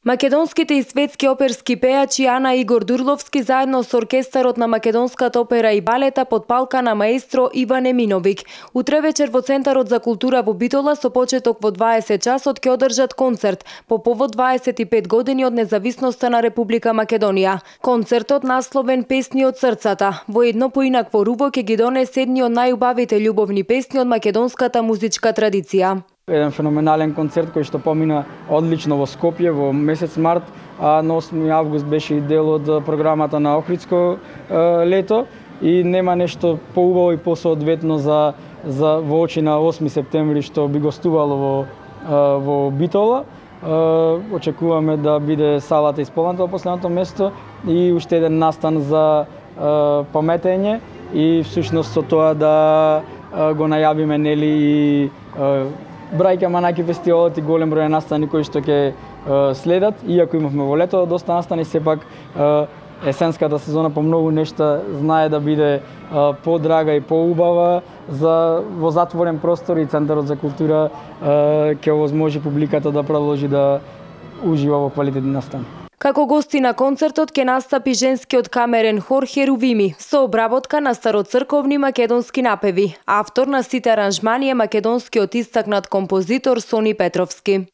Македонските и светски оперски пејачи Ана и Игор Дурловски заедно со оркестарот на Македонската опера и балета под палка на маестро Иван Еминовиќ. Утре вечер во Центарот за култура во Битола со почеток во 20 часот ќе одржат концерт по повод 25 години од независноста на Република Македонија. Концертот насловен Песни од срцата во едно поинакво руво ќе ги донесе едни од најубавите љубовни песни од македонската музичка традиција. Еден феноменален концерт кој што помина одлично во Скопје во месец март, а на 8 август беше и дел од програмата на Охридско лето и нема нешто поубаво и посоодветно за во очи на 8 септември што би гостувало во Битола. Очекуваме да биде салата исполнета во последното место и уште еден настан за паметење и всушност со тоа да го најавиме нели и брајка манаки фестивалот и голем број настани кои што ќе следат. Иако имавме во лето доста настани, сепак есенската сезона по многу нешта знае да биде подрага и поубава за во затворен простор и Центарот за култура ќе овозможи публиката да продолжи да ужива во квалитетни настани. Како гости на концертот ќе настапи женскиот камерен хор Херувими со обработка на староцрковни македонски напеви. Автор на сите аранжмани е македонскиот истакнат композитор Сони Петровски.